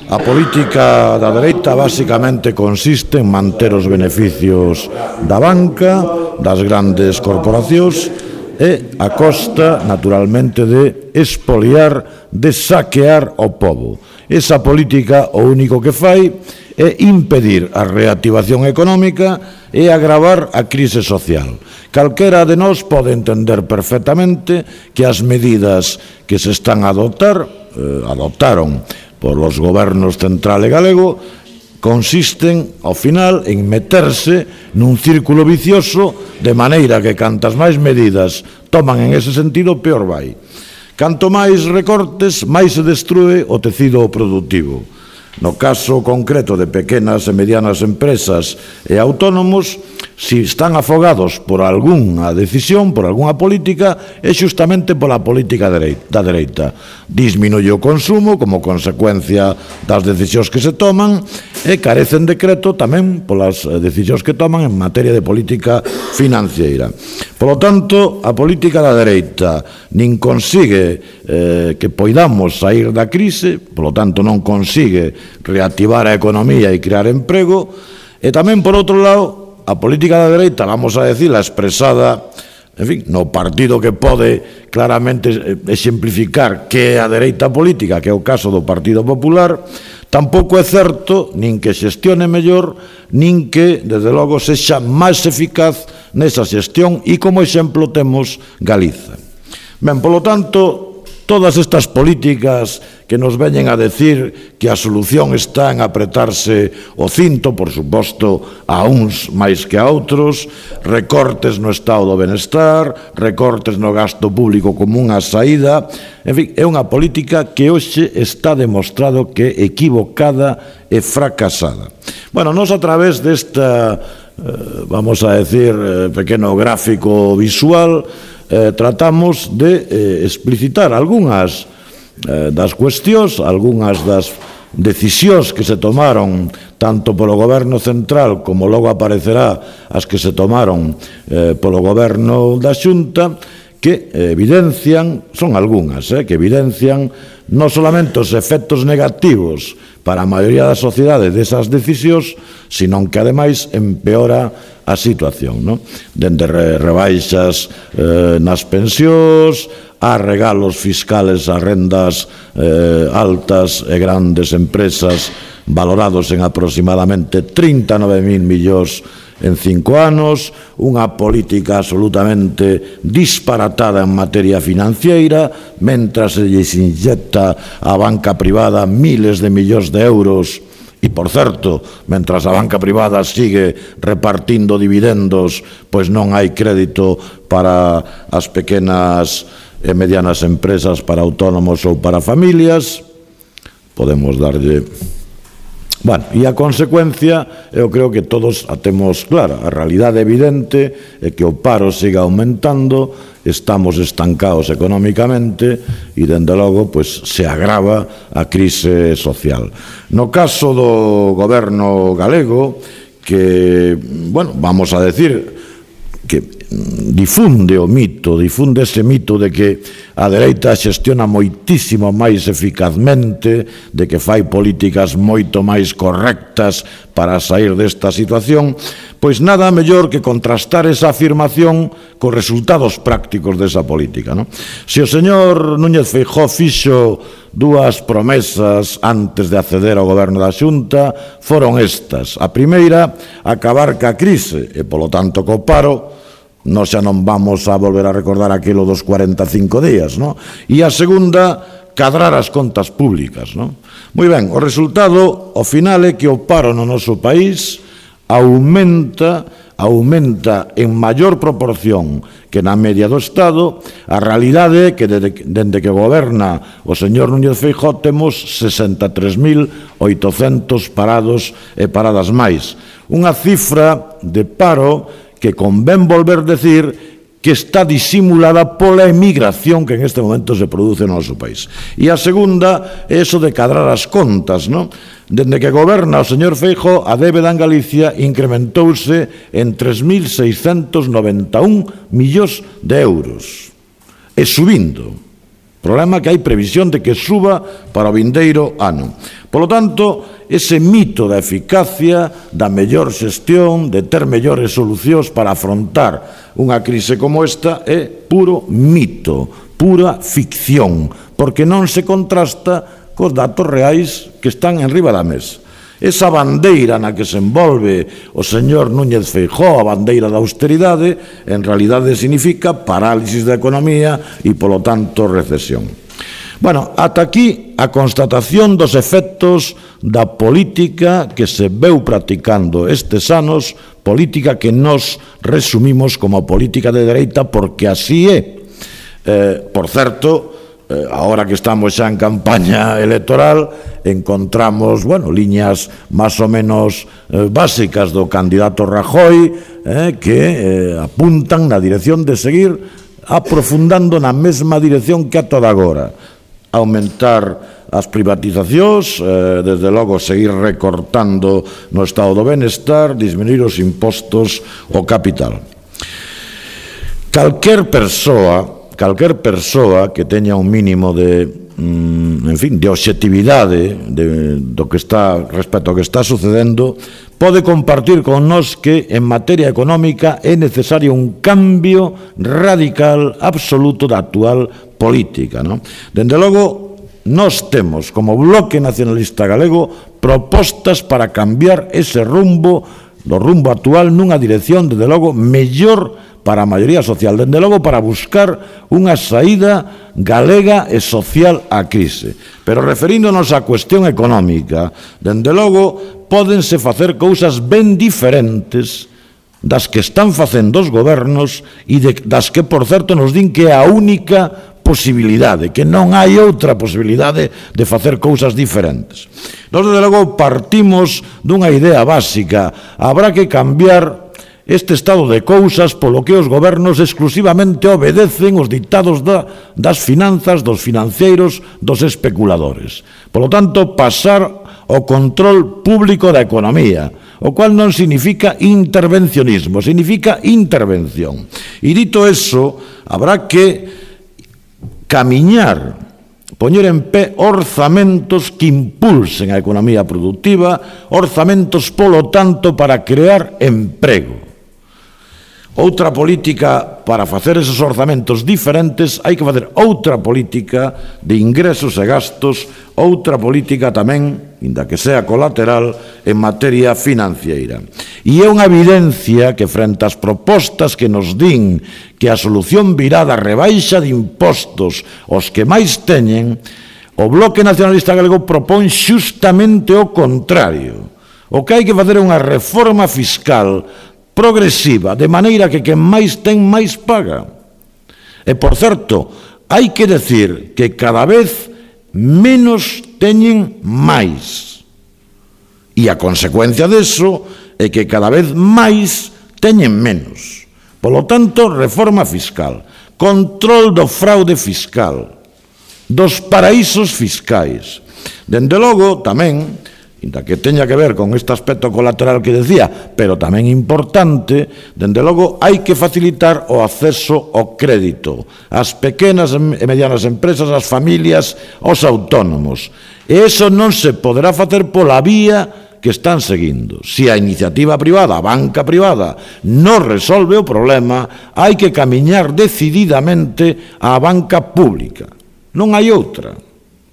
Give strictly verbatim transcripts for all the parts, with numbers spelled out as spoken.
A política da dereita basicamente consiste en manter os beneficios da banca, das grandes corporacións e a costa, naturalmente, de expoliar, de saquear o pobo. Esa política o único que fai é impedir a reactivación económica e agravar a crise social. Calquera de nós pode entender perfectamente que as medidas que se están a adoptar, eh, adoptaron por os gobernos central e galego, consisten, ao final, en meterse nun círculo vicioso, de maneira que cantas máis medidas toman en ese sentido, peor vai. Canto máis recortes, máis se destrue o tecido productivo. No caso concreto de pequenas e medianas empresas e autónomos, si están afogados por algunha decisión, por algunha política, é xustamente pola política da dereita. Disminuye o consumo como consecuencia das decisións que se toman e carecen de creto tamén polas decisións que toman en materia de política financiera. Polo tanto, a política da dereita nin consigue eh, que poidamos sair da crise, polo tanto non consigue reactivar a economía e crear emprego, e tamén, por outro lado, a política da dereita, vamos a decirla, expresada, en fin, no partido que pode claramente exemplificar que é a dereita política, que é o caso do Partido Popular, tampouco é certo nin que xestione mellor, nin que, desde logo, sexa máis eficaz nesa xestión, e como exemplo temos Galiza. Ben, polo tanto, todas estas políticas que nos veñen a decir que a solución está en apretarse o cinto, por suposto, a uns máis que a outros, recortes no estado do benestar, recortes no gasto público como unha saída, en fin, é unha política que hoxe está demostrado que é equivocada e fracasada. Bueno, nos a través desta, vamos a decir, pequeno gráfico visual, Eh, tratamos de eh, explicitar algunhas eh, das cuestións, algunhas das decisións que se tomaron tanto polo goberno central como logo aparecerá as que se tomaron eh, polo goberno da Xunta, que evidencian, son algunhas, eh, que evidencian non solamente os efectos negativos para a maioría da sociedade desas decisións, sino que ademais empeora a situación, non? Dende rebaixas eh, nas pensións, a regalos fiscales a rendas eh, altas e grandes empresas valorados en aproximadamente trinta e nove mil millóns en cinco anos, unha política absolutamente disparatada en materia financiera, mentras se lles inyecta a banca privada miles de millóns de euros. E, por certo, mentras a banca privada sigue repartindo dividendos, pois non hai crédito para as pequenas e medianas empresas, para autónomos ou para familias. Podemos darlle... Bueno, e a consecuencia, eu creo que todos a temos clara. A realidade evidente é que o paro siga aumentando, estamos estancados económicamente e, dende logo, pois, se agrava a crise social. No caso do goberno galego, que, bueno, vamos a decir que difunde o mito, difunde ese mito de que a dereita xestiona moitísimo máis eficazmente, de que fai políticas moito máis correctas para sair desta situación, pois nada mellor que contrastar esa afirmación cos resultados prácticos desa política, non? Se o señor Núñez Feijóo fixo dúas promesas antes de acceder ao goberno da Xunta, foron estas. A primeira, acabar ca crise e, polo tanto, co paro. Nós xa non vamos a volver a recordar aquilo dos cuarenta e cinco días, non? E a segunda, cadrar as contas públicas, non? Moi ben, o resultado, ao final, é que o paro no noso país aumenta, aumenta en maior proporción que na media do Estado. A realidade é que dende que goberna o señor Núñez Feijóo temos sesenta e tres mil oitocentos parados e paradas máis. Unha cifra de paro que convén volver decir que está disimulada pola emigración que en este momento se produce no noso país. E a segunda é iso de cadrar as contas, non? Dende que goberna o señor Feijóo, a débeda en Galicia incrementouse en tres mil seiscentos noventa e un millóns de euros. E subindo. Problema que hai previsión de que suba para o vindeiro ano. Polo tanto, ese mito da eficacia, da mellor xestión, de ter mellores solucións para afrontar unha crise como esta é puro mito, pura ficción, porque non se contrasta cos datos reais que están enriba da mesa. Esa bandeira na que se envolve o señor Núñez Feijóo, a bandeira da austeridade, en realidade significa parálisis da economía e, polo tanto, recesión. Bueno, ata aquí a constatación dos efectos da política que se veu practicando estes anos, política que nos resumimos como política de dereita porque así é. Eh, por certo, eh, ahora que estamos xa en campaña electoral, encontramos, bueno, liñas máis ou menos eh, básicas do candidato Rajoy eh, que eh, apuntan na dirección de seguir aprofundando na mesma dirección que a toda agora. Aumentar as privatizacións, eh, desde logo seguir recortando no estado do benestar, disminuir os impostos ao capital. Calquer persoa, calquer persoa que teña un mínimo de, mm, en fin, de obxectividade de, do que está respecto ao que está sucedendo, pode compartir con nós que en materia económica é necesario un cambio radical, absoluto da actual política, non? Dende logo, nós temos, como Bloque Nacionalista Galego, propostas para cambiar ese rumbo, do rumbo actual, nunha dirección, dende logo, mellor para a maioría social, dende logo para buscar unha saída galega e social á crise. Pero referíndonos á cuestión económica, dende logo, pódense facer cousas ben diferentes das que están facendo os gobernos e das que, por certo, nos din que é a única posibilidade, que non hai outra posibilidade de facer cousas diferentes. Nós, desde logo, partimos dunha idea básica. Habrá que cambiar este estado de cousas polo que os gobernos exclusivamente obedecen os ditados da, das finanzas, dos financeiros, dos especuladores. Polo tanto, pasar ao control público da economía, o cual non significa intervencionismo, significa intervención. E dito eso, habrá que camiñar, poñer en pé orzamentos que impulsen a economía productiva, orzamentos, polo tanto, para crear emprego. Outra política para facer esos orzamentos diferentes, hai que facer outra política de ingresos e gastos, outra política tamén, inda que sea colateral, en materia financiera. E é unha evidencia que frente ás propostas que nos din que a solución virá da rebaixa de impostos aos que máis teñen, o Bloque Nacionalista Galego propón xustamente o contrario. O que hai que facer é unha reforma fiscal progresiva, de maneira que quen máis ten máis paga. E, por certo, hai que decir que cada vez menos teñen máis. E a consecuencia deso é que cada vez máis teñen menos. Polo tanto, reforma fiscal, control do fraude fiscal, dos paraísos fiscais. Dende logo, tamén, inda que teña que ver con este aspecto colateral que decía, pero tamén importante, dende logo hai que facilitar o acceso ao crédito ás pequenas e medianas empresas, ás familias, aos autónomos. E iso non se poderá facer pola vía que están seguindo. Se a iniciativa privada, a banca privada, non resolve o problema, hai que camiñar decididamente á banca pública. Non hai outra.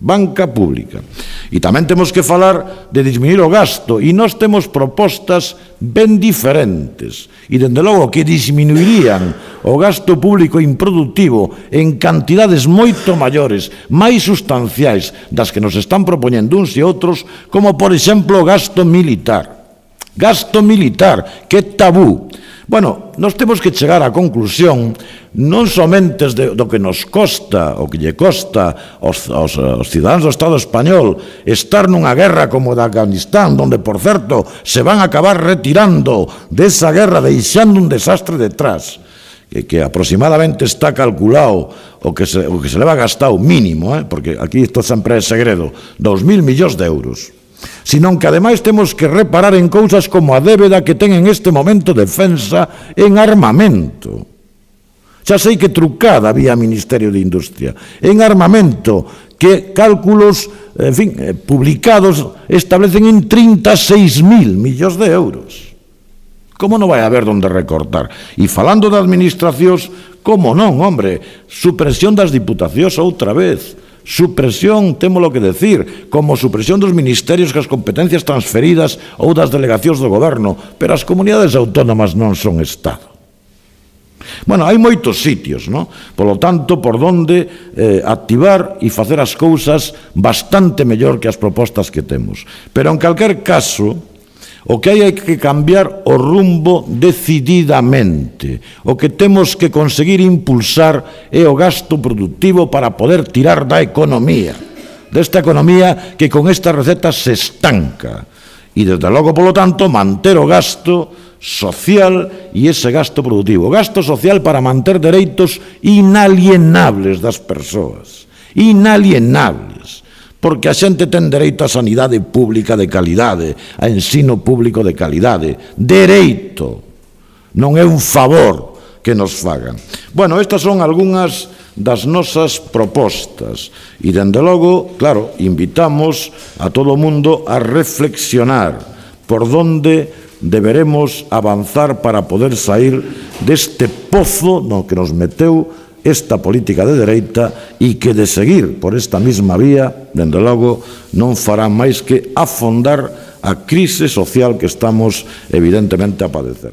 Banca pública. E tamén temos que falar de disminuir o gasto, e nós temos propostas ben diferentes, e dende logo que disminuirían o gasto público improductivo en cantidades moito maiores, máis sustanciais das que nos están propoñendo uns e outros, como por exemplo o gasto militar. Gasto militar, que é tabú. Bueno, nós temos que chegar á conclusión non somente do que nos costa, o que lle costa aos, aos, aos cidadáns do Estado español estar nunha guerra como da Afganistán, donde, por certo, se van a acabar retirando desa guerra deixando un desastre detrás, que, que aproximadamente está calculado o que se, o que se leva gastado mínimo, eh, porque aquí isto sempre é segredo, dos mil millóns de euros. Senón que ademais temos que reparar en cousas como a débeda que ten en este momento defensa en armamento. Xa sei que trucada vía Ministerio de Industria. En armamento, que cálculos, en fin, publicados establecen en trinta e seis mil millóns de euros. Como non vai haber donde recortar? E falando de administracións, como non, hombre, supresión das diputacións outra vez, supresión, témolo que decir, como supresión dos ministerios que as competencias transferidas ou das delegacións do goberno, pero as comunidades autónomas non son Estado. Bueno, hai moitos sitios, non? Polo tanto, por donde eh, activar e facer as cousas bastante mellor que as propostas que temos. Pero, en calquer caso, o que hai é que cambiar o rumbo decididamente. O que temos que conseguir impulsar é o gasto productivo para poder tirar da economía. Desta economía que con esta receta se estanca. E, desde logo, polo tanto, manter o gasto social e ese gasto productivo. O gasto social para manter dereitos inalienables das persoas. Inalienables. Porque a xente ten dereito a sanidade pública de calidade, a ensino público de calidade. Dereito. Non é un favor que nos fagan. Bueno, estas son algunhas das nosas propostas. E, dende logo, claro, invitamos a todo o mundo a reflexionar por donde deberemos avanzar para poder sair deste pozo no que nos meteu esta política de dereita e que de seguir por esta mesma vía, dende logo, non fará máis que afondar a crise social que estamos evidentemente a padecer.